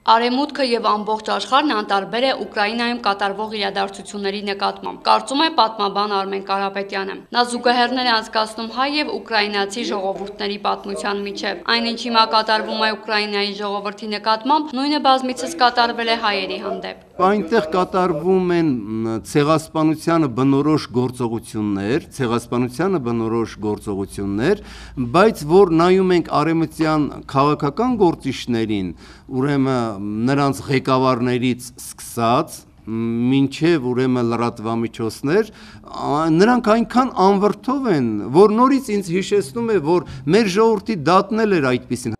Արևմուտքը եւ ամբողջ աշխարհն անտարբեր է Ուկրաինայում կատարվող իրադարձությունների նկատմամբ, կարծում է պատմաբան Արմեն Կարապետյանը։ Նա զուգահեռներ է անցկացնում հայ եւ ուկրաինացի ժողովուրդների պատմության միջև։ Այն, ինչ հիմա կատարվում է Ուկրաինայի ժողովրդի նկատմամբ, նույնը բազմիցս կատարվել է հայերի հանդեպ։ Այնտեղ կատարվում են ցեղասպանությանը բնորոշ գործողություններ, բայց որ նայում ենք արևմտյան քաղաքական գործիչներին, ուրեմն նրանց ղեկավարներից սկսած մինչև ուրեմն լրատվամիջոցներ, նրանք այնքան անվրդով են, որ նորից ինձ հիշեցնում է, որ մեր ժողովրդի դատն էլ էր այդպիսին։